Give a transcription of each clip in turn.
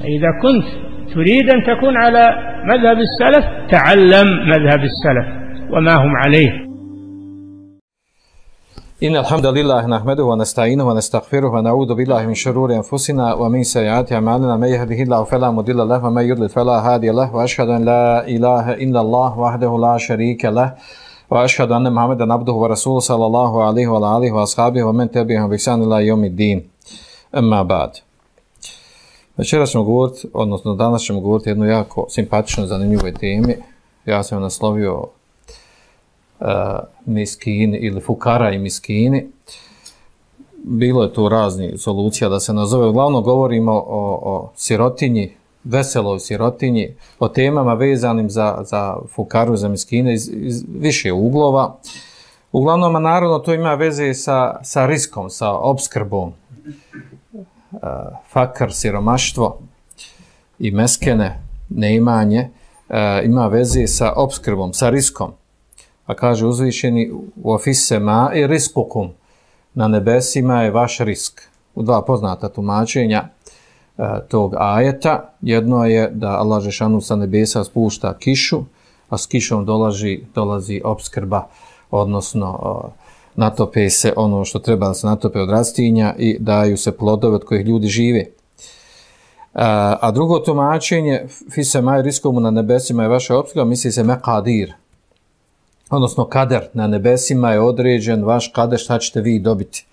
إذا كنت تريد أن تكون على مذهب السلف تعلم مذهب السلف وما هم عليه. إن الحمد لله نحمده ونستعينه ونستغفره ونعوذ بالله من شرور أنفسنا ومن سيئات أعمالنا من يهده الله فلا مضل له ومن يضلل فلا هادي له وأشهد أن لا إله إلا الله وحده لا شريك له وأشهد أن محمدا عبده ورسوله صلى الله عليه وعلى آله وأصحابه ومن تبعهم بإحسان إلى يوم الدين. أما بعد. Večeras ćemo govoriti, odnosno danas ćemo govoriti jednu jako simpatičnu, zanimljivoj temi. Ja sam naslovio miskini ili fukara i miskini. Bilo je tu razni solucija da se nazove. Uglavnom govorimo o sirotinji, veseloj sirotinji, o temama vezanim za fukaru, za miskine iz više uglova. Uglavnom, a naravno to ima veze sa riskom, sa opskrbom. Fakar, siromaštvo i meskene, neimanje, ima veze sa opskrbom, sa riskom. A kaže uzvišeni u ofisema i riskukum, na nebesima je vaš risk. U dva poznata tumačenja tog ajeta. Jedno je da Allah Žešanu sa nebesa spušta kišu, a s kišom dolazi opskrba, odnosno natope se ono što treba da se natope od rastinja i daju se plodove od kojih ljudi žive. A drugo tumačenje, fisema i riskomu, na nebesima je vaša opskrba, misli se mekadir, odnosno kader, na nebesima je određen vaš kader, šta ćete vi dobiti.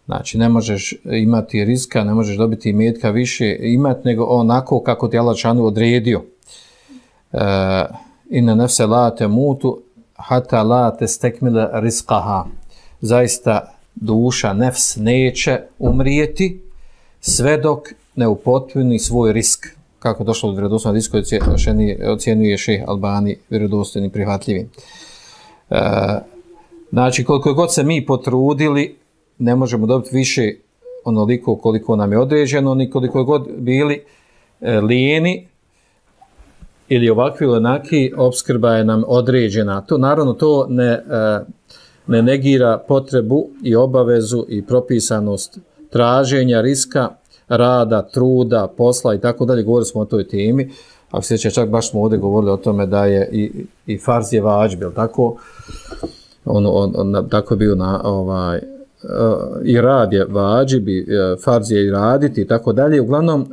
Znači, ne možeš imati riska, ne možeš dobiti imetka više imati, nego onako kako ti Allah Žešanu odredio. Inna nefse la temutu hata la testekmile rizqaha. Zaista duša, nefs, neće umrijeti sve dok ne upotpuni svoj risk. Kako došlo do vjerodostojnog riska, ocjenjuje Šejh Albani vjerodostojnim, prihvatljivim. Znači, koliko god se mi potrudili, ne možemo dobiti više onoliko koliko nam je određeno, ni koliko god bili lijeni ili ovakvi ili onaki, opskrba je nam određena. To, naravno, to ne negira potrebu i obavezu i propisanost traženja, riska, rada, truda, posla i tako dalje. Govorili smo o toj temi. Ako se sjeća, čak baš smo ovdje govorili o tome da je i farz je vađb, tako? Tako je bio i rad je vađb, farz je i raditi i tako dalje. Uglavnom,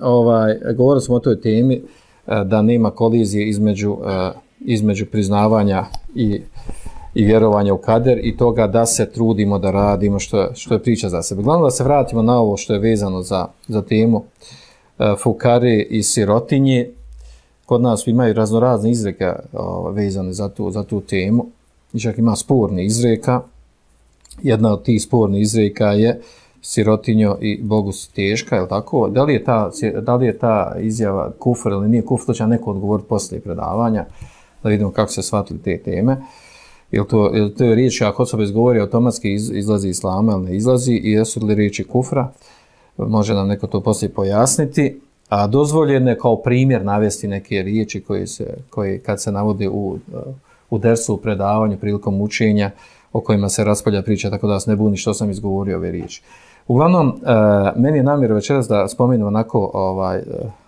govorili smo o toj temi da nema kolizije između priznavanja i vjerovanja u kader i toga da se trudimo da radimo što je priča za sebe. Glavno da se vratimo na ovo što je vezano za temu fukare i sirotinje. Kod nas imaju raznorazne izreka vezane za tu temu. I čak ima sporni izreka. Jedna od tih spornih izreka je sirotinjo i Bogu si teška, je li tako? Da li je ta izjava kufr ili nije kufr, to će neko odgovoriti poslije predavanja, da vidimo kako se shvatili te teme. Jer to je riječ, ako osoba izgovori, automatski izlazi islama ili ne izlazi, i jesu li riječi kufra, može nam neko to poslije pojasniti. A dozvoljeno je kao primjer navesti neke riječi koje kad se navode u dersu, u predavanju, prilikom učenja, o kojima se raspolja priča, tako da vas ne buni što sam izgovorio ove riječi. Uglavnom, meni je namjera večeras da spomenem onako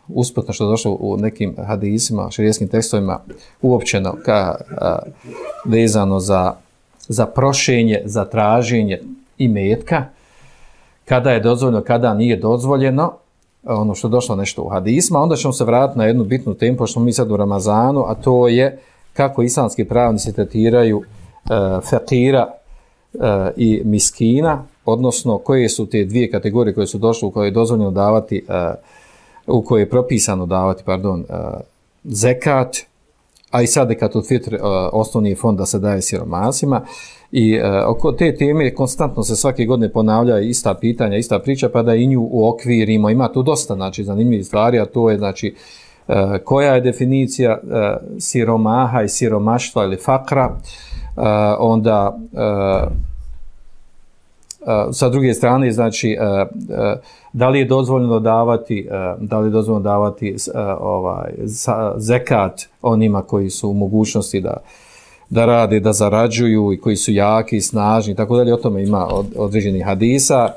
usputno što je došlo u nekim hadisima, šerijskim tekstovima, uopćeno vezano za prošenje, za traženje imetka, kada je dozvoljeno, kada nije dozvoljeno, ono što je došlo nešto u hadisima. Onda ćemo se vratiti na jednu bitnu temu, pošto smo mi sad u Ramazanu, a to je kako islamski pravnici tretiraju fakira i miskina, odnosno koje su te dvije kategorije koje su došle, u koje je dozvoljeno davati, u koje je propisano davati, zekat, a i sadekatul fitr, osnovni fond da se daje siromasima. I oko te teme konstantno se svake godine ponavlja ista pitanja, ista priča, pa da i nju uokvirimo. Ima tu dosta, znači, zanimljivih stvari, a to je, znači, koja je definicija siromaha i siromaštva ili fakra, onda sa druge strane, znači, da li je dozvoljeno davati zekat onima koji su u mogućnosti da rade, da zarađuju i koji su jaki i snažni, tako dalje. O tome ima određenih hadisa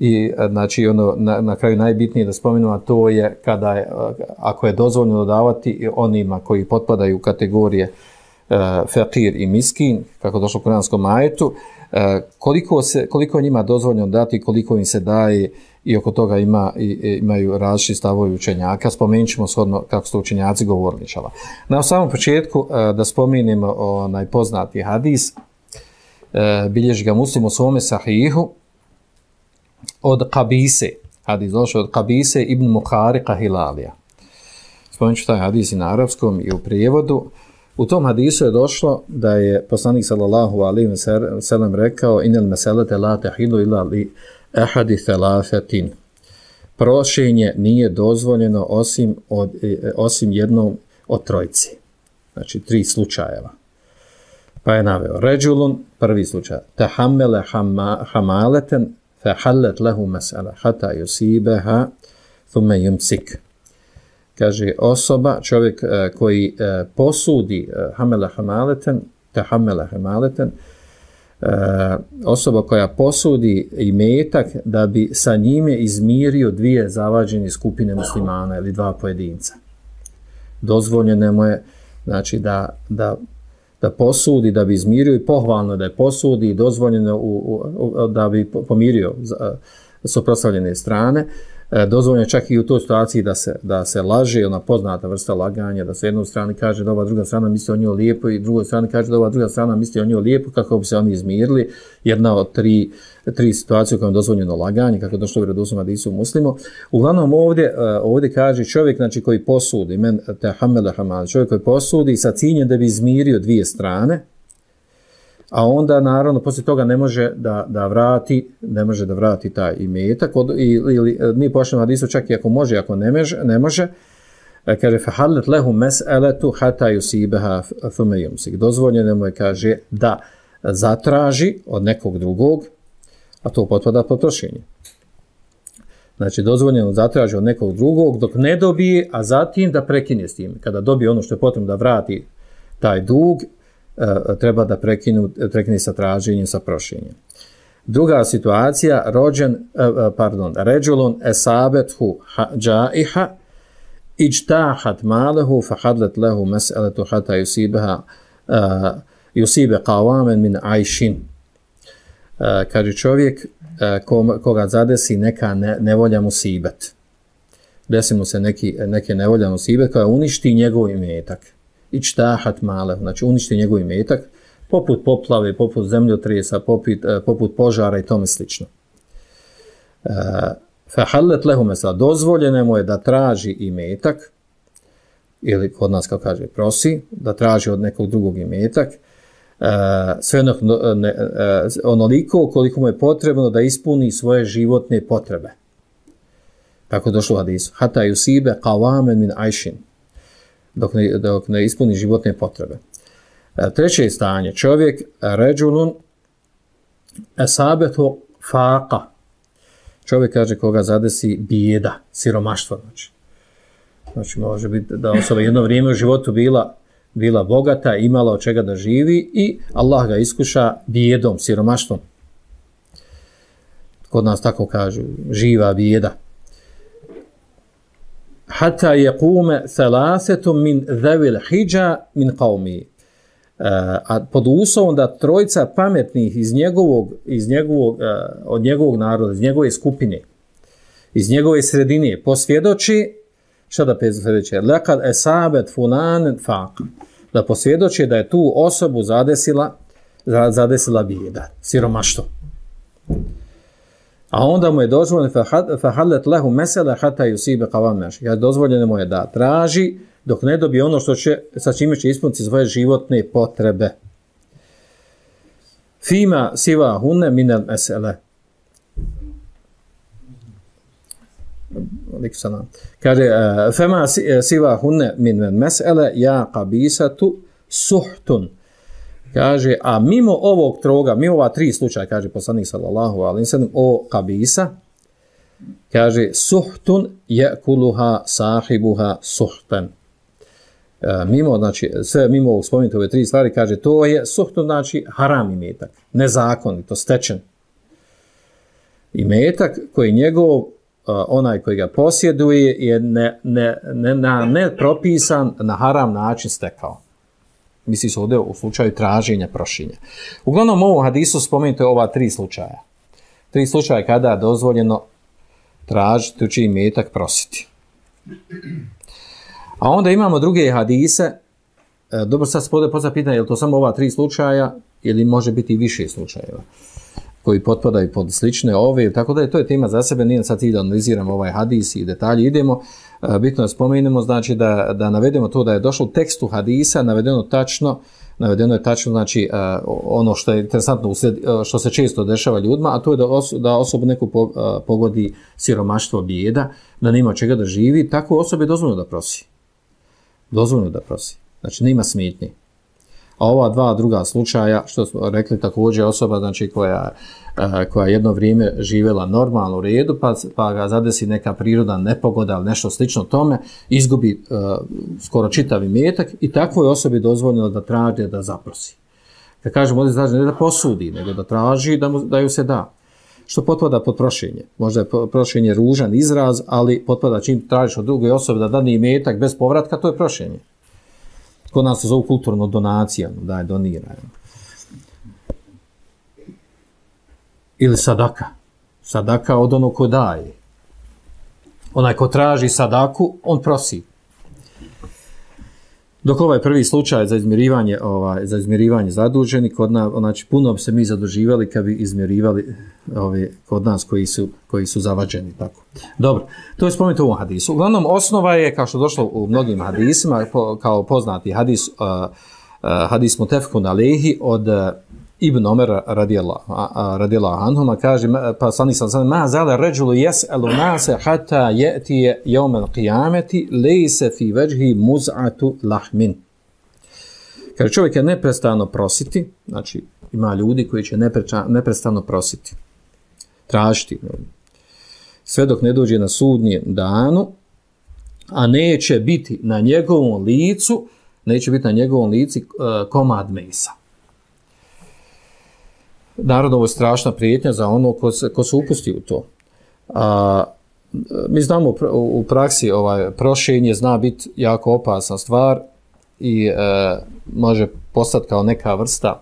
I znači ono na kraju najbitnije da spomenemo, a to je kada je, ako je dozvoljeno davati onima koji potpadaju u kategorije fakir i miskin, kako došlo u kuranskom ajetu, koliko je njima dozvoljeno dati, koliko im se daje, i oko toga imaju različiti stavovi učenjaka. Spomenut ćemo shodno kako su učenjaci govorili. Na samom početku da spomenemo onaj poznati hadis, bilježi ga Muslim u svome sahihu od Qabise, hadis došao od Qabise ibn Muharika Hilalija. Spomenut ću taj hadis i na arapskom i u prijevodu. U tom hadisu je došlo da je poslanik sallallahu alejhi ve sellem rekao: "Inel meselete la tahilu illa li ahadi thalathatin." Prošenje nije dozvoljeno osim jednom od trojice. Znači 3 slučajeva. Pa je naveo ređulun, prvi slučaj, tahammala hamalatan fahallat lahu mas'ala hatta yusibaha thumma yumsik. Kaže osoba, čovjek koji posudi tahammala hamalatan, osoba koja posudi imetak da bi sa njime izmirio 2 zavađene skupine muslimana ili 2 pojedinca. Dozvoljeno mu je znači da posudi, da bi izmirio, i pohvalno da je posudi, i dozvoljeno da bi pomirio suprotstavljene strane. Dozvoljeno čak i u toj situaciji da se laže, ona poznata vrsta laganja, da se jednoj strani kaže da ova druga strana misli o njoj lijepo i drugoj strani kaže da ova druga strana misli o njoj lijepo, kako bi se oni izmirili. Jedna od tri situacije u kojoj je dozvoljeno laganje, kako je došlo u vjerodostojnom hadisu Muslimu. Uglavnom ovdje kaže čovjek znači, koji posudi, čovjek koji posudi sa ciljem da bi izmirio 2 strane, a onda naravno poslije toga ne može da vrati taj imetak, ili nije pošteno hadisu, čak i ako može, ako ne može, kaže fahallat lahu mas'alatu hatta yusibaha thumma yumsik. Dozvoljeno mu je, kaže, da zatraži od nekog drugog, a to potpada pod trošenje. Znači dozvoljeno zatraži od nekog drugog dok ne dobije, a zatim da prekine s tim. Kada dobije ono što je potrebno da vrati taj dug, treba da prekine sa traženjem, sa prošenjem. Druga situacija, ređulun esabethu džaiha ijtahat malehu fahadlet lehu mes'eletu hata yusibe qawamen min ajšin. Kaže čovjek koga zadesi neka nevolja musibet. Desi mu se neke nevolja musibet koja uništi njegov imetak. Ijtahat male, znači uništi njegov imetak, poput poplave, poput zemljotresa, poput požara i tome slično. Fahallet lehu mesela, dozvoljeno mu je da traži imetak, ili kod nas kao kaže prosi, da traži od nekog drugog imetak, sve onoliko koliko mu je potrebno da ispuni svoje životne potrebe. Tako je došlo u hadisu. Hata yusibe qawamen min ajšin. Dok ne ispuni životne potrebe. Treće stanje, čovjek ređulun esabetu faqa. Čovjek, kaže, koga zadesi bijeda, siromaštvo. Znači može biti da osoba jedno vrijeme u životu bila bogata, imala od čega da živi i Allah ga iskuša bijedom, siromaštvom. Kod nas tako kažu, živa bijeda. Hatta yaqume thalathatum min dhawil hija min qawmi. A pod uslovom da trojica pametnih od njegovog naroda, iz njegove skupine, iz njegove sredine posvjedoči, šta da posvjedoči? Laqad asabet fulan faq. Da posvjedoči da je tu osobu zadesila bijeda, siromaštvo. A onda mu je dozvoljeno fahallat lahu masala hatta yusiba qawamen. Ja dozvoljeno mu je da traži dok ne dobije ono sa čime će ispuniti svoje životne potrebe. Fima siva hunne min al-mas'ala. Kaže fama siva hunne min al-mas'ala ya qabisatu suhtun. Kaže, a mimo ovog troga, mimo ova 3 slučaja, kaže poslanik sallallahu alejhi ve sellem o Qabisa, kaže suhtun yakuluha sahibuha suhtan. Mimo, znači sve mimo ovog spomenuti ove 3 stvari, kaže to je suhtun, znači haram imetak, nezakonito stečen. imetak koji njegov, onaj koji ga posjeduje je ne propisan na haram način stekao. Misli se ovdje u slučaju traženja, prošenja. Uglavnom u ovom hadisu spomenuto je ova 3 slučaja. 3 slučaja kada je dozvoljeno tražiti tuđi imetak, prositi. A onda imamo druge hadise. Dobro, sad se postavlja pitanje, je li to samo ova 3 slučaja ili može biti i više slučajeva koji potpadaju pod slične ove, tako da je to je tema za sebe, nije sad cilj da analiziramo ovaj hadis i detalje. Idemo, bitno da spomenemo, znači da navedemo to da je došlo u tekstu hadisa, navedeno je tačno, znači ono što je interesantno, što se često dešava ljudima, a to je da osobu neku pogodi siromaštvo, bijeda, da nema čega da živi, tako osobi je dozvoljeno da prosi. Dozvoljeno da prosi. Znači, nema smetnje. A ova 2 druga slučaja, što smo rekli, također osoba, znači, koja jedno vrijeme živjela normalno u redu, pa ga zadesi neka priroda nepogoda ili nešto slično tome, izgubi skoro čitav imetak i takvoj osobi dozvoljeno da traži, da zaprosi. Kad kažemo ovdje traži, ne da posudi, nego da traži da ju se da. Što potpada pod prošenje. Možda je prošenje ružan izraz, ali potpada čim tražiš od druge osobe da dani imetak bez povratka, to je prošenje. Kod nas se zovu kulturno donacija, daj, doniraj. Ili sadaka. Sadaka od onog ko daje. Onaj ko traži sadaku, on prosi. Dok ovaj prvi slučaj za izmirivanje zaduženi, kod nas, znači puno bi se mi zaduživali kad bi izmirivali kod nas koji su zavađeni. Tako. Dobro, to je spomenuto u ovom hadisu. Uglavnom, osnova je, kao što je došlo u mnogim hadisima, kao poznati hadis mutefekun alejhi od Ibn Omera radijallahu anhuma, kaže, pa sani sam, ma zale ređulu jes'elu nase hata je'tije jevmel qiyameti lejse fi veđhi muz'atu lahmin. Kaže, čovjek je neprestano prositi, znači ima ljudi koji će neprestano prositi, tražiti, sve dok ne dođe na sudnjem danu, a neće biti na njegovom licu komad mesa. Naravno, ovo je strašna prijetnja za ono ko se upusti u to. Mi znamo u praksi prošenje zna biti jako opasna stvar i može postati kao neka vrsta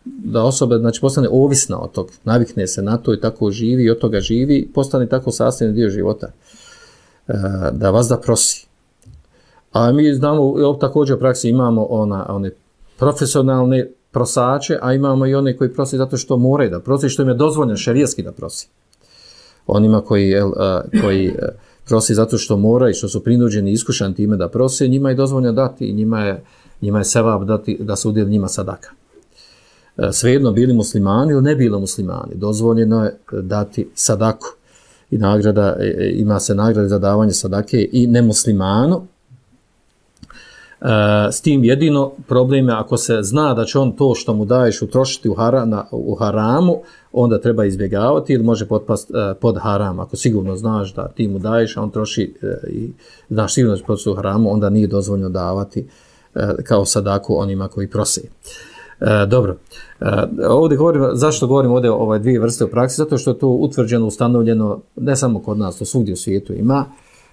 da osoba, znači, postane ovisna od tog, navikne se na to i tako živi i od toga živi, postane tako sastavni dio života. Da vas da prosi. A mi znamo, također u praksi imamo one profesionalne prosače, a imamo i one koji prosi zato što moraju da prosi, što im je dozvoljeno šerijski da prosi. Onima koji prosi zato što moraju i što su prinuđeni i iskušani time da prose, njima je dozvoljeno dati i njima je sevap dati da se udjeli njima sadaka. Svejedno bili muslimani ili ne bili muslimani, dozvoljeno je dati sadaku. I ima se nagrada za davanje sadake i nemuslimanu. S tim jedino problem je ako se zna da će on to što mu daješ utrošiti u haramu, onda treba izbjegavati ili može potpasti pod haram. Ako sigurno znaš da ti mu daješ, a on troši i znaš sigurno da će potpasti u haramu, onda nije dozvoljno davati kao sadaku onima koji prose. Dobro, ovdje zašto govorim ovdje o ove 2 vrste u praksi? Zato što je to utvrđeno, ustanovljeno, ne samo kod nas, to svugdje u svijetu ima,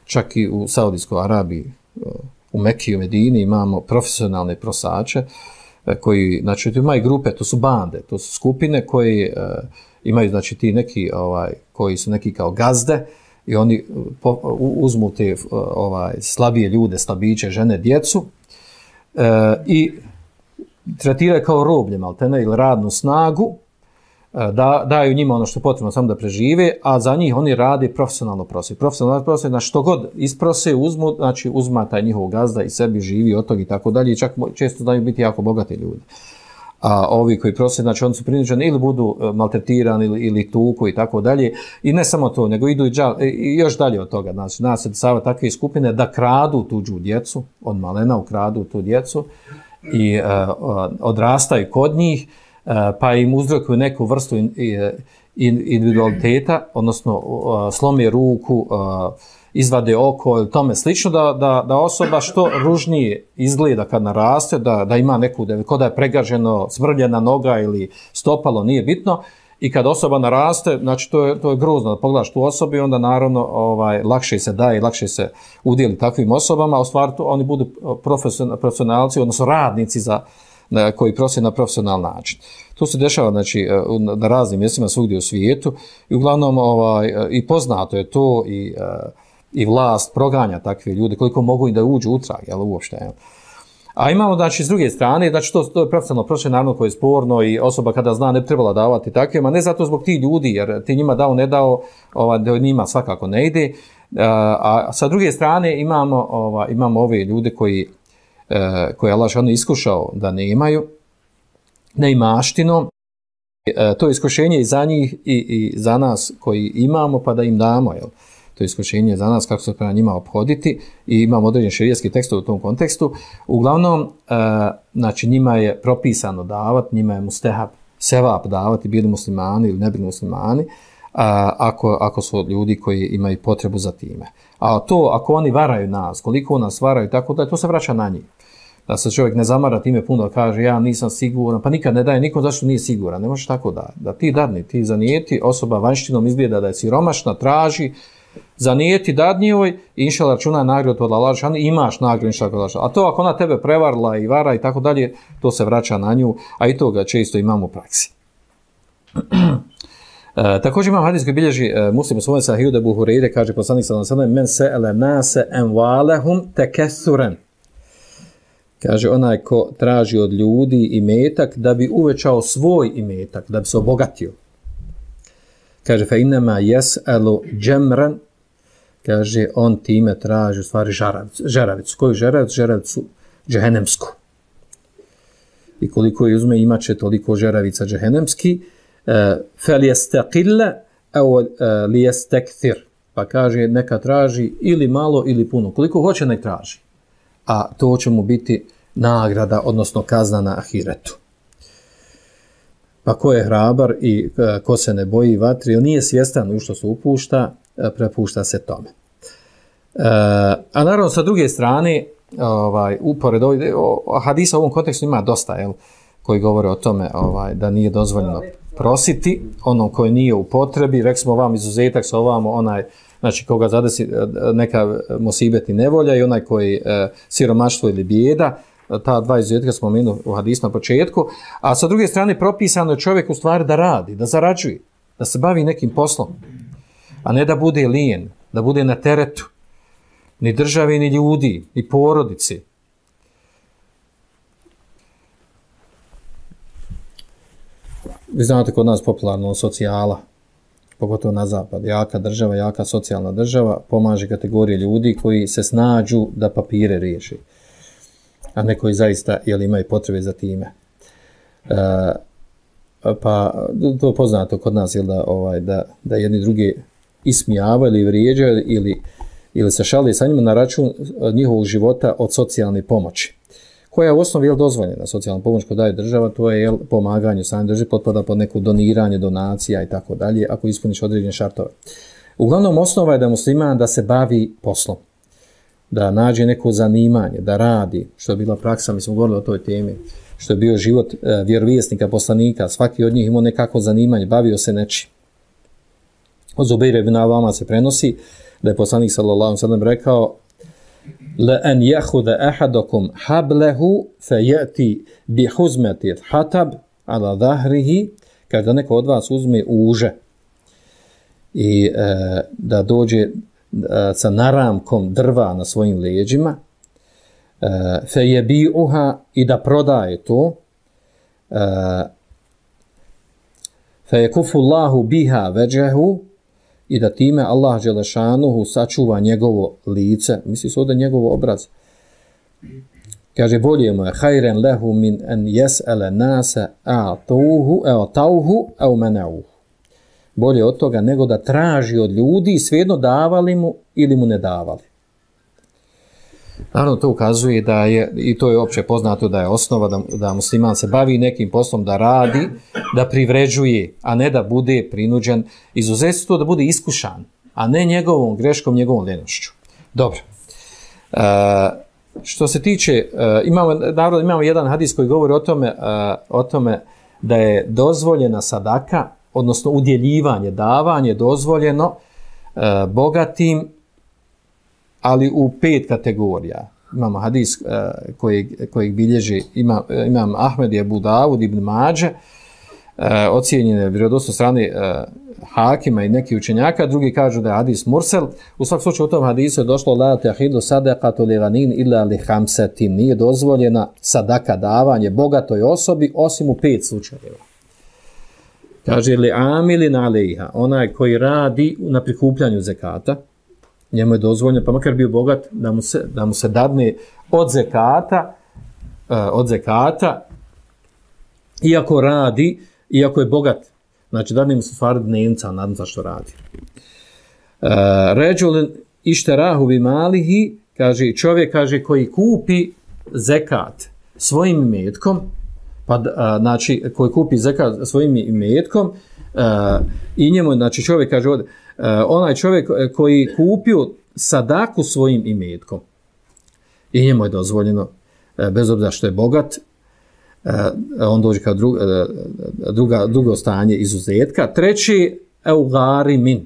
čak i u Saudijskoj Arabiji, u Mekiji, u Medini imamo profesionalne prosače koji, znači, imaju grupe, to su bande, to su skupine koji imaju, znači, ti neki, koji su neki kao gazde i oni uzmu te slabije ljude, slabiće, žene, djecu i tretiraju kao roblje, maltene, ili radnu snagu, daju njima ono što je potrebno samo da prežive, a za njih oni rade profesionalno prosi. Profesionalno prosi, na što god isprose, uzmu, znači uzma taj njihov gazda i sebi živi od tog i tako dalje, i čak često znaju biti jako bogati ljudi. A ovi koji prose, znači oni su prinuđeni ili budu maltretirani ili tuku i tako dalje, i ne samo to, nego idu i još dalje od toga. Znači, nas se dešava takve skupine da kradu tuđu djecu, od malena ukradu tu djecu i odrastaju kod njih, pa im uzrokuju neku vrstu individualiteta, odnosno slome ruku, izvade oko ili tome slično, da osoba što ružnije izgleda kad naraste, da ima neku, kod da je pregaženo, smrljena noga ili stopalo, nije bitno. I kad osoba naraste, znači to je grozno da pogledaš tu osobu i onda naravno lakše se daje, lakše se udjeli takvim osobama, a u stvari oni budu profesionalci, odnosno radnici koji prose na profesionalan način. To se dešava znači, na raznim mjestima svugdje u svijetu i uglavnom i poznato je to i vlast proganja takve ljude koliko mogu i da uđu utrag, jel uopšte, jel? A imamo, znači, s druge strane, znači, to je profesionalno prošle, naravno, koje je sporno i osoba kada zna ne bi trebala davati takve, ma ne zato zbog tih ljudi, jer ti njima dao, ne dao, da njima svakako ne ide. A sa druge strane imamo ove ljude koje Allah šano iskušao da nemaju, neimaštinom. To je iskušenje i za njih i za nas koji imamo, pa da im damo, jel? To je iskušenje za nas kako se prema njima obhoditi i imamo određen šerijatski tekst u tom kontekstu. Uglavnom, znači njima je propisano davati, njima je mustehab, sevap davati, bili muslimani ili ne bili muslimani, ako su ljudi koji imaju potrebu za time. A to, ako oni varaju nas, koliko nas varaju, tako da to se vraća na njih. Da se čovjek ne zamara time puno, da kaže ja nisam siguran, pa nikad ne daje nikom zašto nije siguran. Ne možeš tako da ti dadni, ti zanijeti, osoba vanjštinom izgleda da je siromašna, traži, zanijeti dadnjivoj i inšala računa nagradu od Allah, imaš nagradu inšala od Allah. A to ako ona tebe prevarila i vara i tako dalje, to se vraća na nju, a i toga često imamo u praksi. Također imam hadis koji bilježi Muslim u svojom sahihu da Ebu Hureyre kaže poslanik sallallahu alejhi ve sellem men se'ele nase amwalahum takassuran. Kaže onaj ko traži od ljudi imetak da bi uvećao svoj imetak, da bi se obogatio. Kaže fa inma yas'alu jamran, kaže on time traži u stvari žeravicu. Koju žeravicu? Žeravicu džehennemsku. I koliko je uzme imaće toliko žeravica džehennemski, فَلْيَسْتَقِلَّ أَوْ لِيَسْتَكْثِرْ. Pa kaže neka traži ili malo ili puno. Koliko hoće nek traži. A to će mu biti nagrada, odnosno kazna na ahiretu. Pa ko je hrabar i ko se ne boji vatri, on nije svjestan u što se upušta, prepušta se tome. A naravno sa druge strane, upored hadisa u ovom kontekstu ima dosta, jel, koji govore o tome da nije dozvoljeno prositi onom koji nije u potrebi. Rekli smo vam izuzetak sa ovamo onaj, znači koga zadesi neka musibet i nevolja i onaj koji siromaštvo ili bijeda, ta dva izuzetka smo spomenuli u hadisu na početku, a sa druge strane propisano je čovjek u stvari da radi, da zarađuje, da se bavi nekim poslom, a ne da bude lijen, da bude na teretu, ni države, ni ljudi, ni porodici. Vi znate kod nas popularno socijala, pogotovo na zapad, jaka država, jaka socijalna država, pomaže kategorije ljudi koji se snađu da papire riješi, a ne koji zaista imaju potrebe za time. Pa to poznato kod nas, da jedni drugi ismijavaju ili vrijeđaju ili se šali sa njima na račun njihovog života od socijalne pomoći, koja je u osnovi dozvoljena. Socijalna pomoć koju daje država, to je pomaganje same države, potpada pod neko doniranje, donacija i tako dalje, ako ispuniš određene šartove. Uglavnom, osnova je da musliman da se bavi poslom, da nađe neko zanimanje, da radi, što je bila praksa, mi smo govorili o toj temi, što je bio život vjerovjesnika, poslanika, svaki od njih imao nekako zanimanje, bavio se nečim. Od Zubeira ibn Avama se prenosi da je poslanik sallallahu alejhi ve sellem rekao: la an yakhudha ahadukum hablahu fayati bi huzmati hatab ala dhahrihi, kada neko od vas uzme uže i da dođe sa naramkom drva na svojim leđima, fayabi'uha, i da prodaje to, fayakufu Allahu biha wajhahu, i da time Allah dželešanuhu sačuva njegovo lice, misli se ovdje njegovo obraz. Kaže, bolje mu je hajren lehu min en jes'ele nase a'tauhu au menauhu. Bolje od toga nego da traži od ljudi, svejedno davali mu ili mu ne davali. Naravno, to ukazuje da je, i to je opće poznato, da je osnova da musliman se bavi nekim poslom, da radi, da privređuje, a ne da bude prinuđen. Izuzetstvo da bude iskušan, a ne njegovom greškom, njegovom lenošću. Dobro. Što se tiče, imamo jedan hadis koji govori o tome da je dozvoljena sadaka, odnosno udjeljivanje, davanje dozvoljeno bogatim, ali u 5 kategorija. Imamo hadis kojeg bilježi imam Ahmed i Abu Davud ibn Mađe, ocijenjene vjerodostojno strane Hakima i neki učenjaka, drugi kažu da je hadis mursel. U svakom slučaju u tom hadisu je došlo la tahidu sadaqatu li ghanin illa li khamsatin, nije dozvoljena sadaka, davanje bogatoj osobi osim u 5 slučajeva. Kaže li amilin alejha, onaj koji radi na prikupljanju zekata, njemu je dozvoljeno, pa makar bio bogat, da mu se dadne od zekata, iako radi, iako je bogat, znači dadne mu se stvari dnevnica, nadam za što radi. Ređulin išterahu bi malihi, kaže čovjek kaže koji kupi zekat svojim imetkom, znači koji kupi zekat svojim imetkom i njemu, znači čovjek kaže ovdje, onaj čovjek koji kupio sadaku svojim imetkom i njemu je dozvoljeno, bez obzira što je bogat, on dođe kao drugo stanje izuzetka. Treći, eugarimin,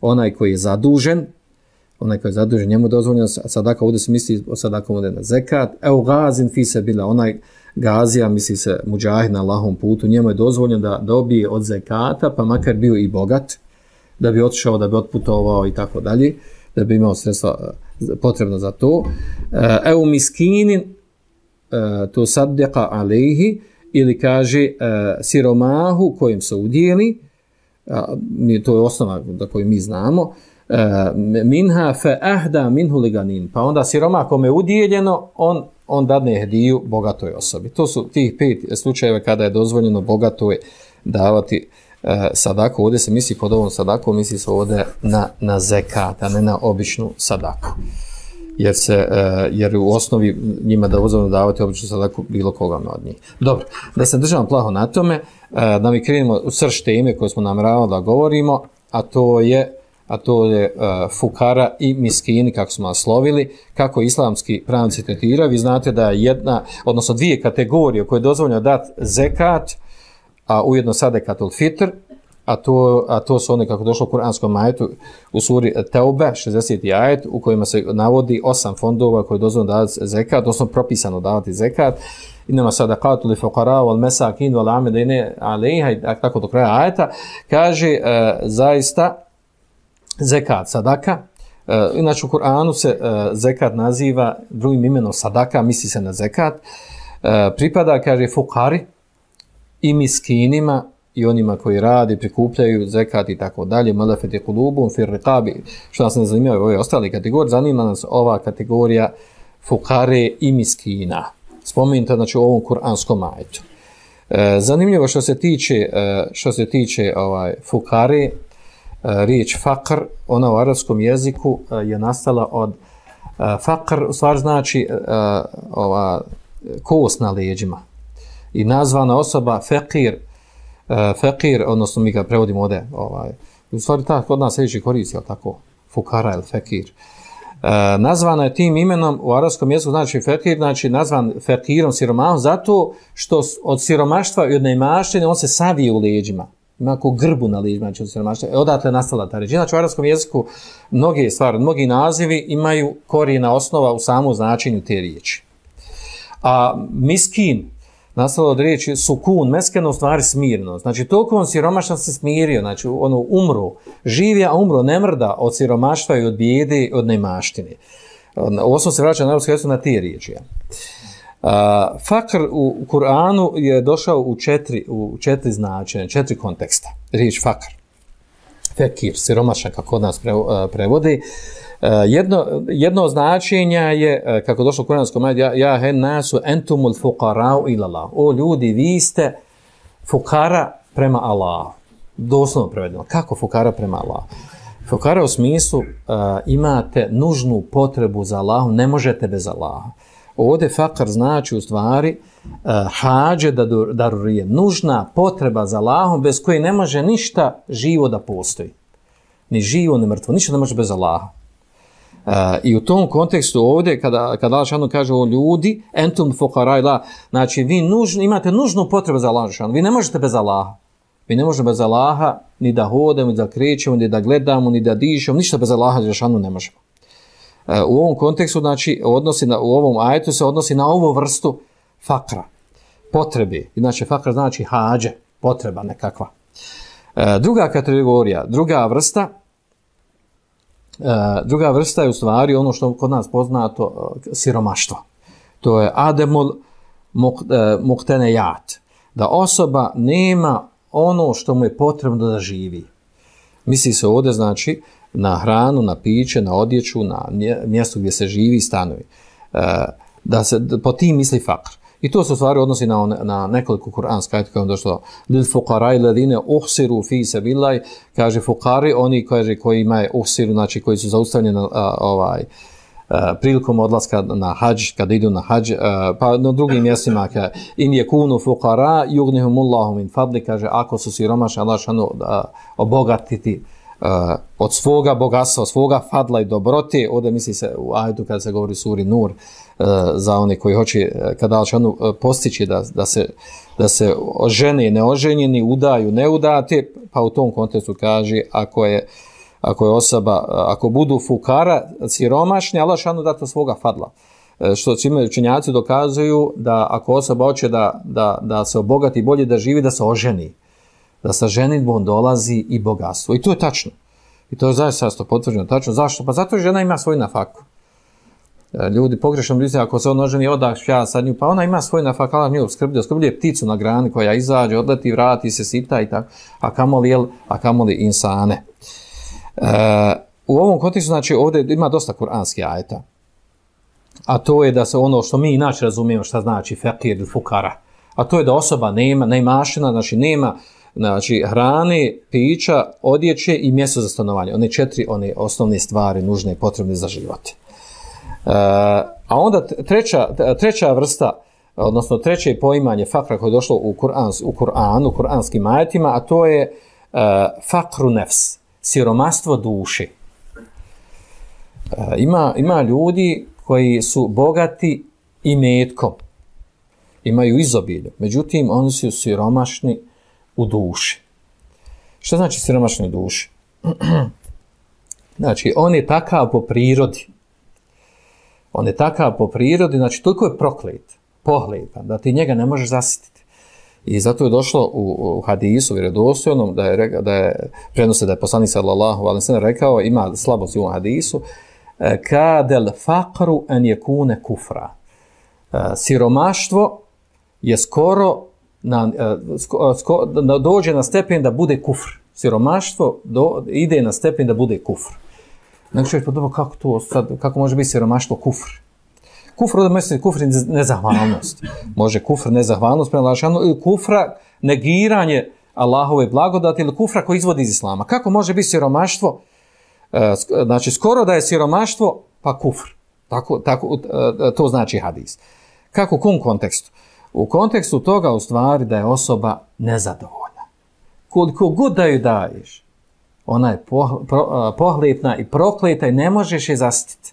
onaj koji je zadužen, njemu je dozvoljeno sadaka, ovdje se misli o sadakom ovdje na zekat, eugazin fi sebila, onaj gazija, misli se muđahid na Allahovom putu, njemu je dozvoljeno da dobije od zekata, pa makar bio i bogat, da bi otišao, da bi otputovao i tako dalje, da bi imao sredstva potrebno za to. Eu miskinin, to saddeqa alejhi, ili kaže siromahu kojim se udijeli, to je osnova da koju mi znamo, minha fe ahda minhu liganin, pa onda siromah kome je udijeljeno, on dadne hediju bogatoj osobi. To su tih 5 slučajeva kada je dozvoljeno bogatoj davati sadaku. Ovdje se misli pod ovom sadaku, misli se ovdje na zekat, a ne na običnu sadaku. Jer u osnovi njima da dozvoljeno davati običnu sadaku bilo koga od njih. Dobro, da se držamo plaho na tome, da mi krenemo u srž teme koje smo namjeravali da govorimo, a to je fukara i miskini, kako smo naslovili, kako islamski pravnici tretiraju. Vi znate da je odnosno 2 kategorije koje je dozvoljeno dati zekat, a ujedno sadekatul fitr, a to su one kako došlo u kuranskom ajetu u suri Teube, 60. ajet, u kojima se navodi 8 fondova koje je dozvoljeno davati zekat, odnosno propisano davati zekat. Inama sadakatu li fuqara wal masakin wal amilina alejha, tako do kraja ajeta, kaže zaista zekat, sadaka. Inače u Kur'anu se zekat naziva drugim imenom sadaka, misli se na zekat. Pripada, kaže, fukari i miskinima i onima koji radi, prikupljaju zekat i tako dalje, malafeti kulubum, fir riqabi, što nas ne zanimaju ove ostale kategorije, zanima nas ova kategorija fukare i miskina. Spomenuta, znači, u ovom kuranskom ajetu. Zanimljivo što se tiče fukare, riječ fakr, ona u arapskom jeziku je nastala od fakr, u stvari znači kost na leđima. I nazvana osoba fekir, odnosno mi ga prevodimo ovdje, u stvari tako kod nas riječi koristi, tako, fukara ili fekir. Nazvana je tim imenom u arapskom jeziku, znači fekir, znači nazvan fekirom, siromahom, zato što od siromaštva i od neimaštine on se savije u leđima. Ima ako grbu na leđima, znači od siromaštva. Odatle je nastala ta riječ. Znači u arapskom jeziku mnogi nazivi imaju korijena osnova u samom značenju te riječi. A miskin, nastalo od riječi sukun, meskeno u stvari smirno. Znači toliko on siromašan se smirio, znači umro, živi, a umro, ne mrda od siromaštva i od bijede, od neimaštine. Ovo smo se vraćali na arapskom jeziku na te riječi. Fakr u Kur'anu je došao u 4 značenja, 4 konteksta. Riječ fakr, fekir, siromašan, kako od nas prevodi. Jedno značenja je, kako došlo u kuranskom ajetu, ja hen nasu entumul fuqarau ila Allah. O ljudi, vi ste fukara prema Allahu. Doslovno prevedeno. Kako fukara prema Allahu? Fukara u smislu imate nužnu potrebu za Allahom, ne možete bez Allaha. Ovdje fakar znači u stvari hađe darurije, nužna potreba za Allahom bez koje ne može ništa živo da postoji. ni živo, ni mrtvo, ništa ne može bez Allaha. I u tom kontekstu ovdje, kada Allah šanu kaže o ljudi, entum fuqara ila, znači vi imate nužnu potrebu za Allah šanu, vi ne možete bez Allaha. Vi ne možemo bez Allaha ni da hodamo, ni da krećemo, ni da gledamo, ni da dišemo, ništa bez Allaha šanu ne možemo. U ovom kontekstu, znači, u ovom ajetu se odnosi na ovu vrstu fakra, potrebe. Znači, fakra znači hađe, potreba nekakva. Druga kategorija, druga vrsta je u stvari ono što kod nas poznato siromaštvo. To je ademul muqtenejat, da osoba nema ono što mu je potrebno da živi. Misli se ovdje, znači, na hranu, na piće, na odjeću, na mjesto gdje se živi i stanovi. Da se po tim misli fakr. I to se u stvari odnosi na nekoliko kuranska ajeta kao došlo lil fuqara alladine uhsiru fi sabilillah, kaže fuqari, oni koji imaju uhsiru, znači koji su zaustavljeni prilikom odlaska na hadž, kada idu na hadž, pa na drugim mjestima in yakunu fuqara yughnihumullahu min fadli, kaže ako su siromašni, Allah šano obogatiti od svoga bogatstva, svoga fadla i dobrote. Ovdje misli se u ajetu kada se govori suri Nur, za one koji hoće kada Allah šano postići da se žene neoženjeni, udaju neudate, pa u tom kontekstu kaže ako je osoba, ako budu fukara, siromašni, Allah šanu dati svoga fadla. Što čime učenjaci dokazuju da ako osoba hoće da se obogati, bolje da živi, da se oženi. Da sa ženitbom dolazi i bogatstvo. I to je tačno. I to je zaista potvrđeno tačno. Zašto? Pa zato žena ima svoj nafaku. Ljudi pogrešno misle, ako se on oženi, ja sad nju, pa ona ima svoj nafak, Allah nju obskrbljuje pticu na grani koja izađe, odleti, vrati se, sita i tako, a kamoli insane. U ovom kontekstu, znači, ovdje ima dosta kuranskih ajeta, a to je da se ono što mi inače razumijemo šta znači fakir ili fukara, a to je da osoba neimašina, znači nema hrane, pića, odjeće i mjesto za stanovanje. One 4 osnovne stvari nužne i potrebne za život. A onda treća vrsta, odnosno treće poimanje fakra koje je došlo u kuranskim ajetima, a to je fakru nefs, siromaštvo duše. Ima ljudi koji su bogati imetkom, imaju izobilje, međutim oni su siromašni u duši. Što znači siromašni u duši? Znači, on je takav po prirodi. Znači, toliko je proklet, pohlepan, da ti njega ne možeš zasititi. I zato je došlo u hadisu, vjerodostojnom, da je prenose da je poslanik sallallahu alejhi ve sellem rekao, ima slabost u ovom hadisu, kadel faqru an yakuna kufra. Siromaštvo je skoro dođe na stepen da bude kufr. Siromaštvo ide na stepen da bude kufr. Nego čovjek podoba kako može biti siromaštvo kufr. Kufr ovdje misli kufr nezahvalnost. Može kufr nezahvalnost prema Allahšanu ili kufra negiranje Allahove blagodati ili kufra koji izvodi iz islama. Kako može biti siromaštvo? Znači skoro da je siromaštvo pa kufr. To znači hadis. Kako u kom kontekstu? U kontekstu toga u stvari da je osoba nezadovoljna. Koliko god da ju daješ, ona je pohlepna i prokleta i ne možeš je zasititi.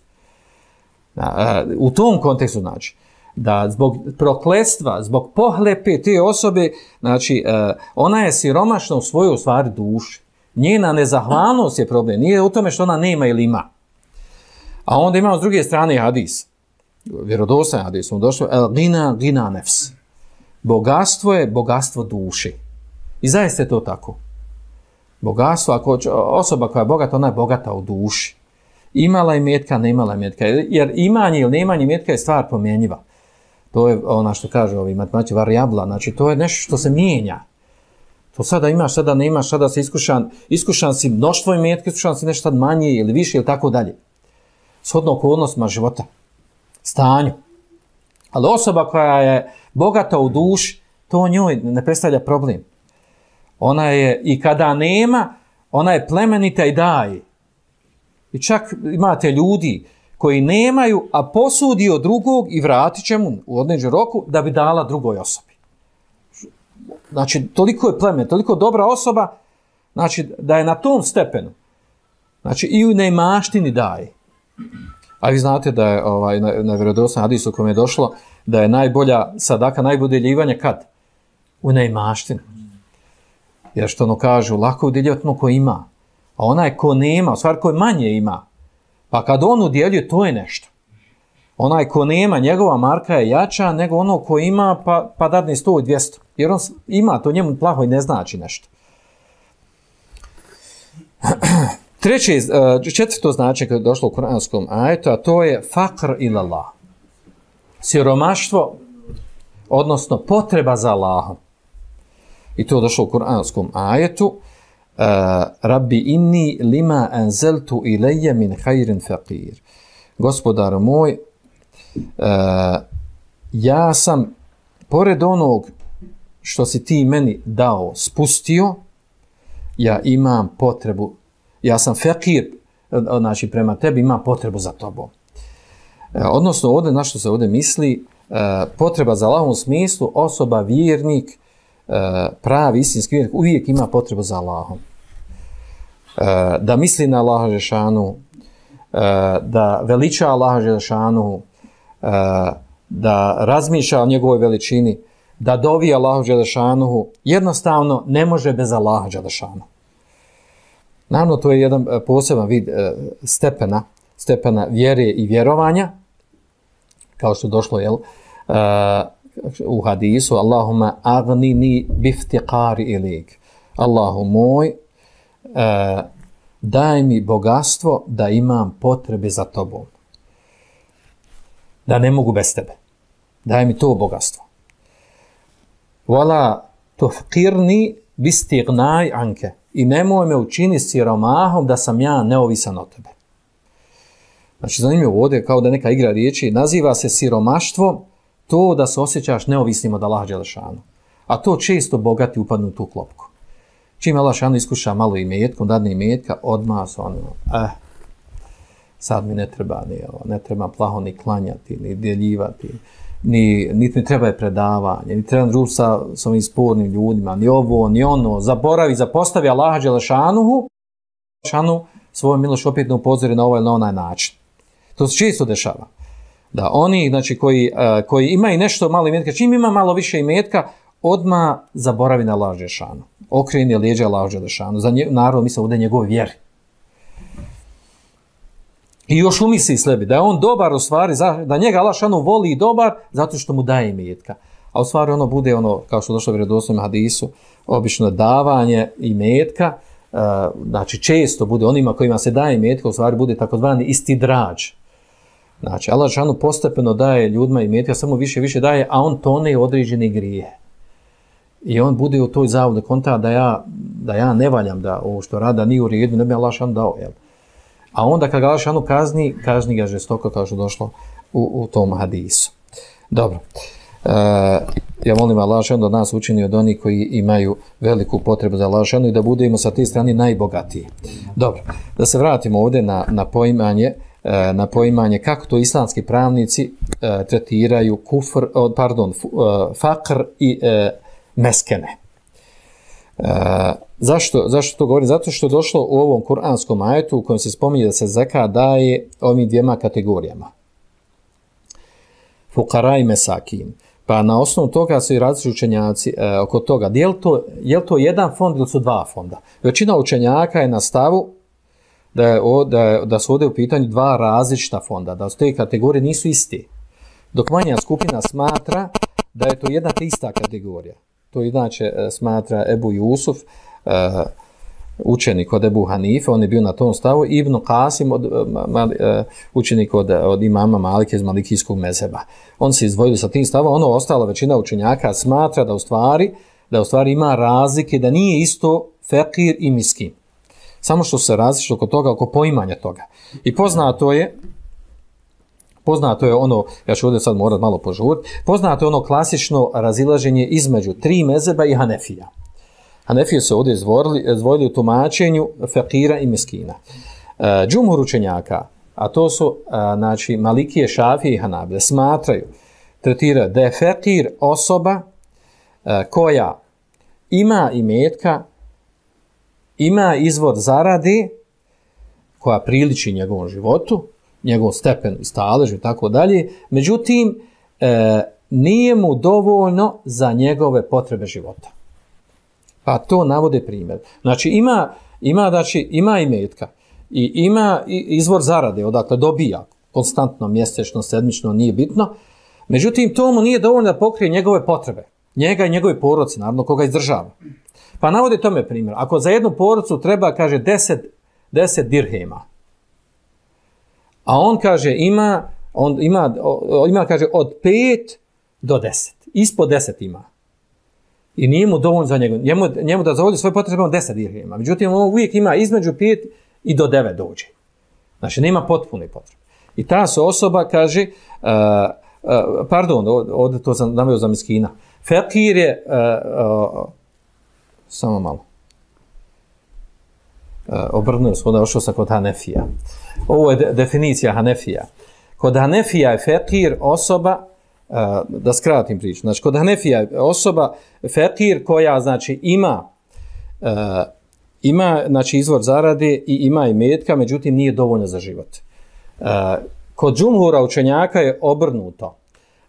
U tom kontekstu znači da zbog prokletstva, zbog pohlepe te osobe, znači ona je siromašna u svojoj stvari duši. Njena nezahvalnost je problem, nije u tome što ona nema ili ima. A onda imamo s druge strane hadis, vjerodostojan hadis, došlo gina nefs. Bogatstvo je bogatstvo duše. I zaista je to tako. Bogatstvo, ako osoba koja je bogata, ona je bogata u duši. Imala imetka, ne imala imetka. Jer imanje ili nemanje imetka je stvar promjenjiva. To je ona što kaže ovi matematički varijabla. Znači to je nešto što se mijenja. To sada imaš, sada ne imaš, sada si iskušan si mnoštvo imetka, iskušan si nešto manje ili više ili tako dalje. Shodno okolnostima života, stanju. Ali osoba koja je bogata u duši, to njoj ne predstavlja problem. Ona je, i kada nema, ona je plemenita i daje. I čak imate ljudi koji nemaju, a posudi od drugog i vratit će mu u određenom roku da bi dala drugoj osobi. Znači, toliko je plemen, toliko dobra osoba, znači da je na tom stepenu, Znači i u neimaštini daje. A vi znate da je na vjerodostojnom hadisu u kojem je došlo da je najbolja sadaka, najbolje udjeljivanje kad? U neimaštini. Jer što ono kažu, lako udjeljivati ono ko ima. A onaj ko nema, u stvari ko manje ima, pa kad on udjeljuje, to je nešto. Onaj ko nema, njegova marka je jača nego ono ko ima, pa dadne 100 i 200. Jer on ima, to njemu plaho i ne znači nešto. Četvrto značenje koje je došlo u kuranskom ajetu, a to je fakr ilallah. Siromaštvo, odnosno potreba za Allahom. I to je došlo u kuranskom ajetu. Rabbi inni lima anzeltu ilayya min khairin faqir. Gospodar moj, ja sam pored onog što si ti meni dao, spustio, ja imam potrebu, ja sam faqir, znači prema tebi imam potrebu za tobom. Odnosno ovdje, na što se ovdje misli, potreba za Allahom u smislu, osoba, vjernik, pravi, istinski vjernik, uvijek ima potrebu za Allahom. Da misli na Allaha Žešanu, da veliča Allaha Žešanu, da razmišlja o njegovoj veličini, da dovi Allahu Žešanu, jednostavno ne može bez Allaha Žešanu. Naravno, to je jedan poseban vid stepena vjere i vjerovanja, kao što je došlo u hadisu, Allahumma agnini biftiqari ilik. Allahu moj, daj mi bogatstvo da imam potrebe za tobom. Da ne mogu bez tebe. Daj mi to bogatstvo. Wala tufqirni bistignaj anke. I nemoj me učini siromahom da sam ja neovisan od tebe. Znači, zanimljivo ovdje, kao da neka igra riječi, naziva se siromaštvo to da se osjećaš neovisnim od Allaha Đelešanu. A to često bogati upadnu u tu klopku. Čim Allah Đelešanu iskuša malo imetkom, dadne imetka, odmah su ono, sad mi ne treba ne treba plaho ni klanjati, ni djeljivati, niti mi treba je predavanje, ni treba družiti sa ovim spornim ljudima, ni ovo, ni ono, zapostavi Allaha Đelešanuhu, svoju milošću opet ne upozori na ovaj ili na onaj način. To se često dešava. Da oni, znači, koji imaju nešto malo imetka, čim ima malo više imetka, odmah zaboravi na Allaha Đelešanu. Okreni leđa Allaha Đelešanu. Naravno, mislim ovdje njegove vjeri. I još umisli sebi da je on dobar u stvari, da njega Allah šanu voli i dobar zato što mu daje imetka. A u stvari ono bude ono, kao što došlo u vjerodostojnom hadisu, obično davanje imetka, znači često bude onima kojima se daje imetka, u stvari bude takozvani istidrađ. Znači Allah šanu postepeno daje ljudima imetka, samo više daje, a on tone određene grije. I on bude u toj zavodi konta da ja ne valjam, da ovo što rada nije u redu, ne bi Allah šanu dao, jel? A onda kad ga Allah šanu kazni ga žestoko, kao što došlo u tom hadisu. Dobro. Ja molim Allah šanu da nas učini od onih koji imaju veliku potrebu za Allah šanu i da budemo sa te strane najbogatiji. Dobro. Da se vratimo ovdje na poimanje kako to islamski pravnici tretiraju fakr i meskene. Zašto to govori? Zato što je došlo u ovom kuranskom ajetu u kojem se spominje da se zekat daje ovim dvijema kategorijama. Fukara i mesakin. Pa na osnovu toga su i različiti učenjaci oko toga. Je li to jedan fond ili su dva fonda? Većina učenjaka je na stavu da su ovdje u pitanju dva različita fonda, da su te kategorije nisu iste. Dok manja skupina smatra da je to jedna te ista kategorija. To inače smatra Ebu Jusuf, učenik od Ebu Hanife, on je bio na tom stavu, Ibn Qasim, učenik od imama Malike iz Malikijskog mezheba. On se izdvojili sa tim stavom, ono ostala većina učenjaka smatra da u stvari ima razlike, da nije isto fekir i miskin. Samo što se različite oko toga, oko poimanja toga. I poznato je ono, ja ću ovdje sad morat malo požuriti, poznato je ono klasično razilaženje između tri mezheba i Hanefija. Hanefije su ovdje izdvojili u tumačenju fekira i miskina. Džumhur učenjaka, a to su znači, Malikije, Šafije i Hanabile, tretiraju da je fekir osoba koja ima imetka, ima izvor zarade, koja priliči njegovom životu, njegov stepen i stalež i tako dalje, međutim, nije mu dovoljno za njegove potrebe života. Pa to navode primjer. Znači, ima imetka i ima izvor zarade, odakle dobija konstantno, mjesečno, sedmično, nije bitno, međutim, to mu nije dovoljno da pokrije njegove potrebe. Njega i njegove porodice, naravno, koga izdržava. Pa navode tome primjer. Ako za jednu porodicu treba, kaže, 10 dirhema, a on kaže ima kaže od 5 do 10. Ispod 10 ima. I nije mu dovoljno za njemu da zavolji svoje potrebe 10 dirhema. Međutim, on uvijek ima između 5 i do 9 dođe. Znači, nema potpune potrebe. I ta se osoba kaže, ovdje to sam naveo za miskina. Fekir je, samo malo. Obrnuo sam, ošao sam kod Hanefija. Ovo je definicija Hanefija. Kod Hanefija je fekir osoba, da skratim priču, znači kod Hanefija je osoba fekir koja znači ima znači izvor zarade i ima imetka, međutim nije dovoljno za život. Kod džumhura učenjaka je obrnuto.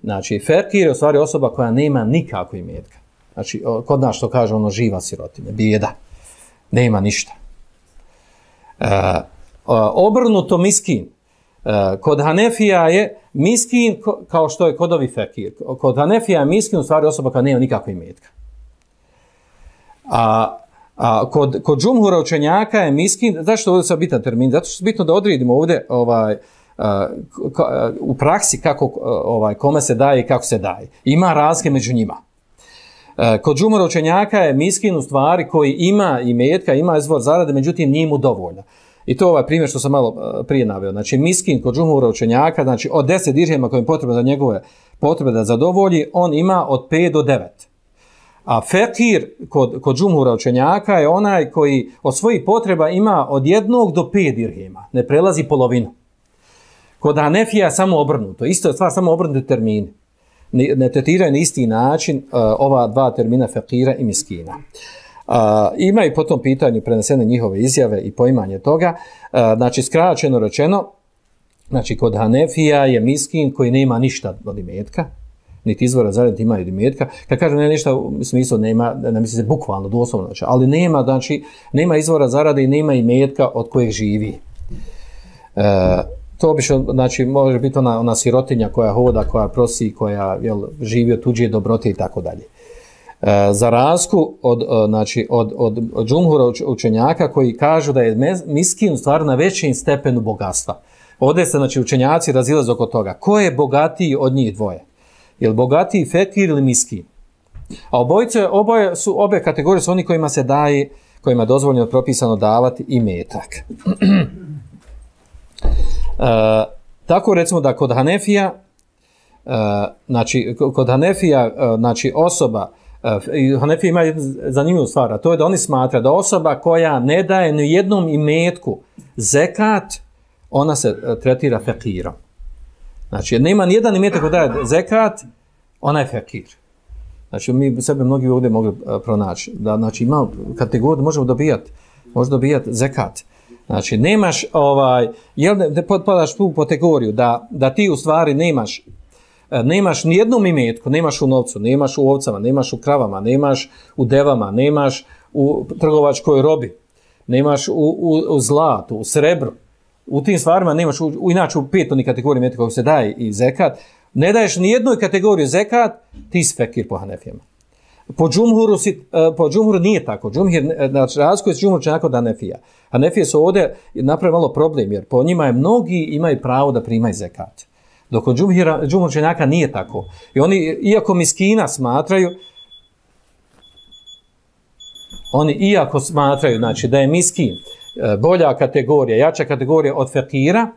Znači fekir je u stvari osoba koja nema nikako imetka. Znači kod nas što kaže ono živa sirotinja, bijeda, nema ništa. Obrnuto miskin. Kod Hanefija je miskin kao što je kod ovi fekir. Kod Hanefija je miskin u stvari osoba koja nema nikakve imetka. Kod džumhura učenjaka je miskin, zašto ovdje sad bitan termin? Zato što je bitno da odredimo ovdje u praksi kako kome se daje i kako se daje. Ima razlike među njima. Kod džumhura učenjaka je miskin u stvari koji ima imetka, ima izvor zarade, međutim nije mu dovoljno. I to je ovaj primjer što sam malo prije naveo. Znači, miskin kod džumhura učenjaka, znači od 10 dirhema koje je potrebno za njegove potrebe da zadovolji, on ima od 5 do 9. A fekir kod džumhura učenjaka je onaj koji od svojih potreba ima od 1 do 5 dirhema. Ne prelazi polovinu. Kod Hanefija je samo obrnuto. Isto je stvar, samo obrnuti termini. Ne tretiraju na isti način ova dva termina fekira i miskina. Ima i po tom pitanju prenesene njihove izjave i poimanje toga. Znači, skraćeno rečeno, znači, kod Hanefija je miskin koji nema ništa od imetka, niti izvora zarade, niti ima od imetka. Kad kažem ne ništa, u smislu nema, ne misli se bukvalno, doslovno, znači, ali nema izvora zarade i nema imetka od kojeg živi. To bi znači, može biti ona sirotinja koja hoda, koja prosi, koja živi od tuđe dobrote i tako dalje. Za razliku od džumhura učenjaka koji kažu da je miskin u stvari na većem stepenu bogatstva. Ovdje se znači, učenjaci razilaze oko toga. Ko je bogatiji od njih dvoje? Je li bogatiji fekir ili miskin? A obe kategorije su oni kojima se daje, kojima je dozvoljeno propisano davati imetak. Tako recimo da kod Hanefija, znači osoba, Hanefija ima jednu zanimljivu stvar, a to je da oni smatra da osoba koja ne daje ni jednom imetku zekat, ona se tretira fekirom. Znači, nema ni jedan imetak koji daje zekat, ona je fekir. Znači, mi sebe mnogi ovdje mogli pronaći. Da, znači, ima kategoriju, možemo dobijati zekat. Znači, nemaš, ne potpadaš tu kategoriju da ti u stvari nemaš ni jednom imetku, nemaš u novcu, nemaš u ovcama, nemaš u kravama, nemaš u devama, nemaš u trgovačkoj robi, nemaš u zlatu, u srebru. U tim stvarima nemaš, inače u petoj kategoriji imetka koji se daje i zekat, ne daješ ni jednoj kategoriji zekat, ti si fekir po Hanefijama. Po džumhuru nije tako. Znači, razlikuje se džumhur činako od Hanefija. Hanefije su ovdje napravili malo problem, jer po njima mnogi imaju pravo da primaju zekat. Dok od džumhur činaka nije tako. I oni, iako miskina smatraju, znači, da je miskin bolja kategorija, jača kategorija od fekira,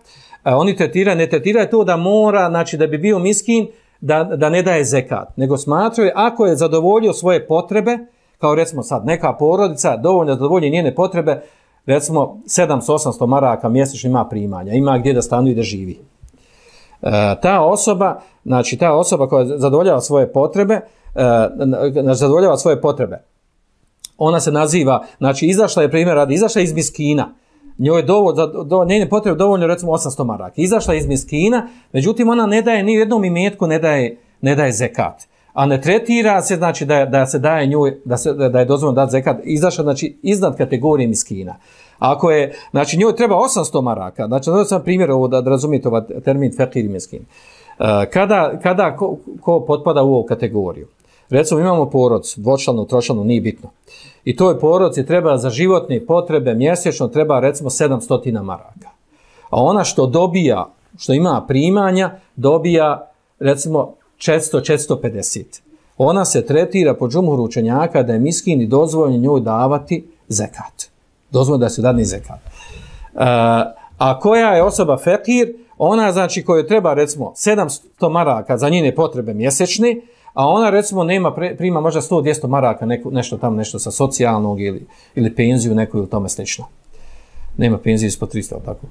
oni ne tretiraju to da mora, znači da bi bio miskin, da ne daje zekat, nego smatraju ako je zadovoljio svoje potrebe, kao recimo sad neka porodica dovoljno zadovolji njene potrebe, recimo 700-800 maraka mjesečno ima primanja, ima gdje da stanuje i da živi. Ta osoba koja zadovoljava svoje potrebe, ona se naziva, znači izašla je iz miskina, njoj je njene potrebe dovoljno recimo 800 maraka. Izašla iz miskina, međutim ona ne daje ni jednom imetku, ne daje zekat. A ne tretira se, znači da se daje njoj, da je dozvoljeno dati zekat, izašla znači iznad kategorije miskina. Ako je, znači njoj treba 800 maraka, znači da sam primjer ovo da razumijete ovaj termin fekir i miskin. Kada ko potpada u ovu kategoriju? Recimo imamo porodicu, dvočlanu, tročlanu, nije bitno. I toj porodici treba za životne potrebe mjesečno treba recimo 700 maraka. A ona što dobija, što ima primanja, dobija recimo 400-450. Ona se tretira po džumhuru učenjaka da je miskin i dozvoljeno njoj davati zekat. Dozvoljeno da se dadne zekat. A koja je osoba fekir, ona znači kojoj treba recimo 700 maraka za njene potrebe mjesečne, a ona recimo prima možda 100-200 maraka nešto sa socijalnog ili penziju neku ili tome slično. Nema penzije ispod 300, tako.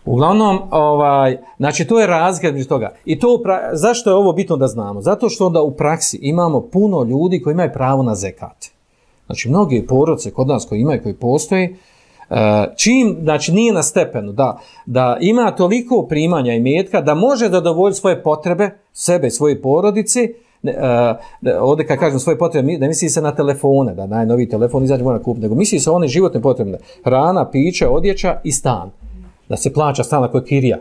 Uglavnom, znači to je razlika između toga. I to zašto je ovo bitno da znamo? Zato što onda u praksi imamo puno ljudi koji imaju pravo na zekat. Znači mnogi porodice kod nas koji postoje, čim, znači nije na stepenu da ima toliko primanja i imetka da može zadovoljiti svoje potrebe, sebe i svoje porodice, ovdje kad kažem svoje potrebe, ne misli se na telefone, da najnoviji telefon izađe mora kupiti, nego misli se one životne potrebe, hrana, piće, odjeća i stan. Da se plaća stan ako je kirija.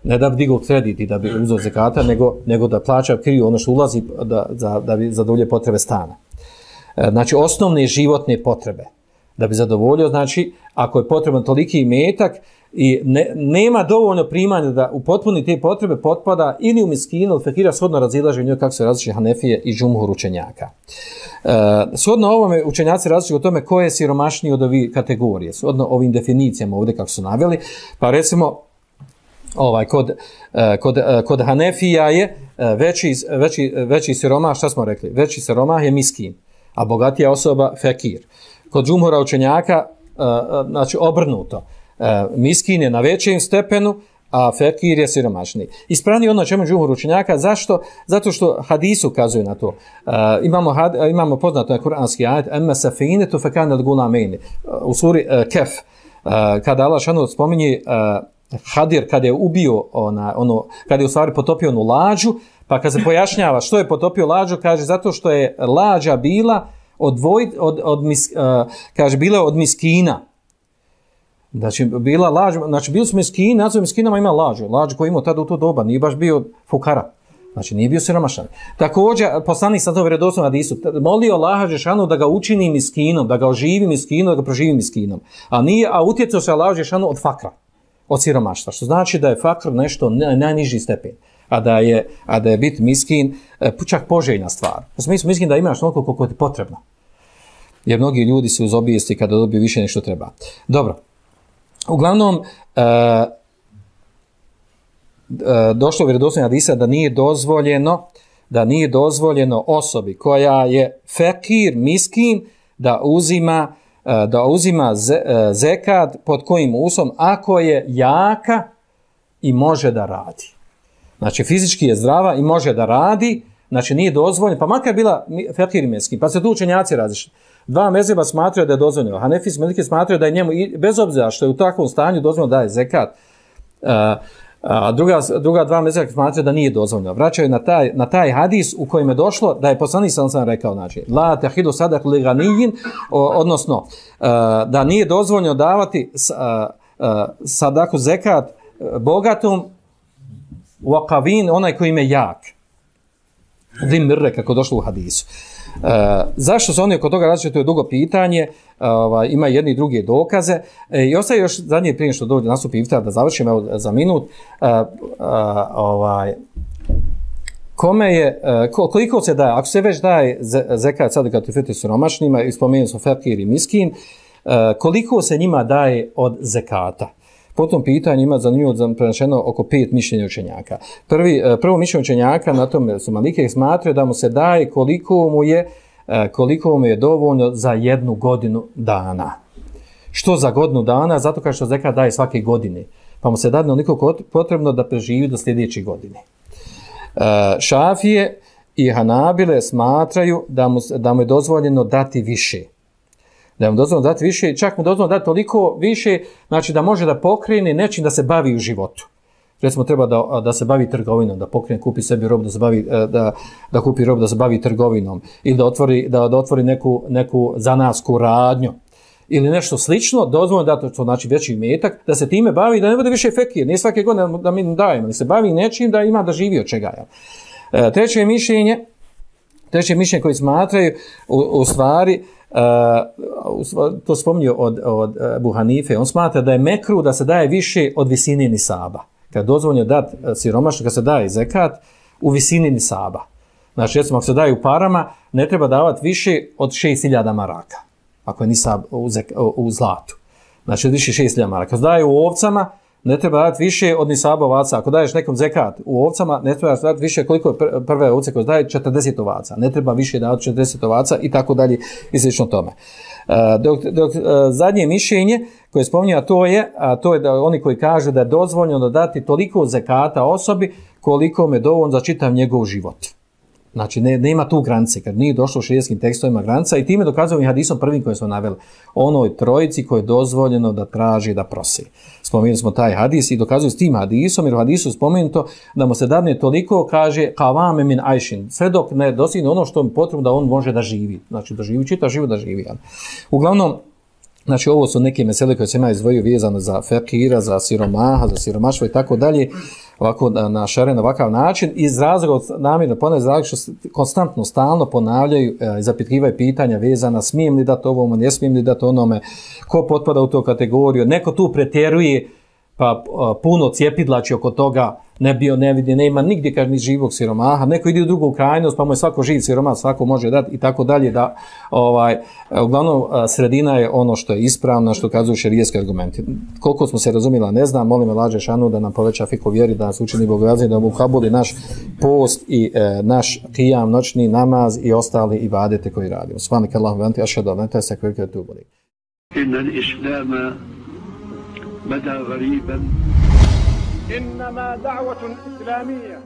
Ne da bi digao kredit i da bi uzeo zekata, nego da plaća kiriju ono što ulazi da bi zadovoljio potrebe stana. Znači osnovne životne potrebe. Da bi zadovoljio, znači ako je potreban toliki imetak i nema dovoljno primanja da upotpuni te potrebe, potpada ili u miskinu ili fekira, shodno razilaže njoj kako se različite Hanefije i džumhur učenjaka. Shodno ovome učenjaci različite o tome ko je siromašniji od ovih kategorije, shodno ovim definicijama ovdje kako su naveli, pa recimo kod Hanefija je veći siromah, šta smo rekli? Veći siromah je miskin, a bogatija osoba fekir. Kod džumhura učenjaka, znači obrnuto, miskin je na većem stepenu, a fekir je siromašniji. Ispravni ono čemu džumhur učenjaka, zašto? Zato što hadis ukazuje na to. Imamo poznato na kuranski ajet, emme safinetu fekane od gulamejni. U suri Kef, kada Allah šanu spominje Hadir, kada je ubio, kada je u stvari potopio onu lađu, pa kad se pojašnjava što je potopio lađu, kaže zato što je lađa bila bila od miskina. Znači, bili su miskini, nadzor miskinama ima lađu koji imao tada u to doba, nije baš bio fukara. Znači, nije bio siromašan. Također, poslanik sa to vjerodostojnom hadisu, molio Allaha dželešanu da ga učini miskinom, da ga oživi miskinom, da ga proživi miskinom. A utjecao se Allaha dželešanu od fakra, od siromaštva, što znači da je fakr nešto najniži stepen. A da je biti miskin čak poželjna stvar. U smislu miskin da imaš toliko koliko ti je potrebno. Jer mnogi ljudi su uz obijesti kada dobiju više nego što treba. Dobro. Uglavnom, došlo u vjerodostojnom hadisu da nije dozvoljeno osobi koja je fekir, miskin, da uzima zekat pod kojim uslovom ako je jaka i može da radi. Znači fizički je zdrava i može da radi, znači nije dozvoljeno, pa makar bila fekir i miskin, pa se tu učenjaci različili. Dva mezheba smatraju da je dozvoljeno, Hanefijski Meliki smatraju da je njemu, bez obzira što je u takvom stanju dozvoljeno da je zekat, a druga dva mezheba smatraju da nije dozvoljeno. Vraćaju na taj hadis u kojem je došlo da je poslanik sallallahu alejhi ve sellem rekao, znači la tahidu sadak li ganiyin, odnosno da nije dozvoljeno davati sadaku zekat bogatom waqavin, onaj koji je jak. Dimre, kako došlo u hadisu. Zašto su oni oko toga različiti, to je dugo pitanje, ima jedni i drugi dokaze. I ostaje još zadnje prije što dođe nastupi iftar, da završimo za minut. Koliko se daje, ako se već daje zekat sadakatul fitr siromašnima, i spomenuli smo fekir i miskin, koliko se njima daje od zekata? Po tom pitanju ima zanimljivo prenašeno oko 5 mišljenja učenjaka. Prvo mišljenje učenjaka na tome su Malike smatraju da mu se daje koliko mu je dovoljno za 1 godinu dana. Što za godinu dana? Zato kao što zekat daje svake godine. Pa mu se dadne onoliko potrebno da preživi do sljedeće godine. Šafije i Hanabile smatraju da mu je dozvoljeno dati više. Da mu dozvoljeno dati više, čak mu dozvoljeno dati toliko više, znači da može da pokrene nečim da se bavi u životu. Recimo treba da se bavi trgovinom, da pokrene, kupi sebi robu, da kupi robu, da se bavi trgovinom ili da otvori neku zanatsku radnju ili nešto slično, dozvoljeno da to znači veći imetak, da se time bavi, da ne bude više fekir, nije svake godine da mi dajemo, da se bavi nečim da ima da živi od čega. Treće mišljenje koji smatraju u stvari, to spominje od Ebu Hanife, on smatra da je mekruh da se daje više od visine nisaba. Kad dozvoljeno dati siromašno, kad se daje zekat u visini nisaba. Znači, recimo, ako se daje u parama, ne treba davati više od 6.000 maraka, ako je nisab u zlatu. Znači, više 6.000 maraka. Kad se daje u ovcama, ne treba dati više od nisaba ovaca. Ako daješ nekom zekat u ovcama, ne treba dati više koliko je prve ovce koje daje 40 ovaca. Ne treba više dati 40 ovaca i tako dalje i slično tome. Dok zadnje mišljenje koje spominje, a to je da oni koji kažu da je dozvoljeno dati toliko zekata osobi koliko me dovoljno za čitav njegov život. Znači, nema tu granice, kad nije došlo u šerijskim tekstovima granica i time dokazujemo i hadisom prvim koje smo naveli. Onoj trojici koje je dozvoljeno da traži, da prosi. Spomenuli smo taj hadis i dokazuju s tim hadisom, jer u hadisu spomenuto da mu se dadne toliko, kaže, kavame min ajšin, sve dok ne dostigne ono što je potrebno da on može da živi. Znači, da živi, čitav život da živi. Uglavnom, znači, ovo su neke mesele koje se ima izdvojio vezano za fekira, za siromaha, za siromaštvo i tako dalje, ovako na šaren, ovakav način, iz razloga, namjerno ponavljaju iz razloga što konstantno, stalno ponavljaju i zapitkivaju pitanja vezana, smijem li dati ovome, ne smijem li dati onome, ko potpada u tu kategoriju, neko tu pretjeruje, pa puno cijepidlači oko toga, ne vidi, nema nigdje kaže ni živog siromaha, neko ide u drugu krajnost, pa mu je svako živ siromah, svako može dati i tako dalje, da uglavnom sredina je ono što je ispravno, što kazuju šerijski argumenti. Koliko smo se razumjela, ne znam, molim Allaha šanu da nam poveća fiku vjeri, da nas učini bogobojazni, da mu kabuli naš post i naš qiyam, noćni namaz i ostali ibadete koji radimo. Subhanaka Allahumma wa anta ashhadu an la ilaha illa anta atubu ilayk. Inna al-islama bada ghariban إنما دعوة إسلامية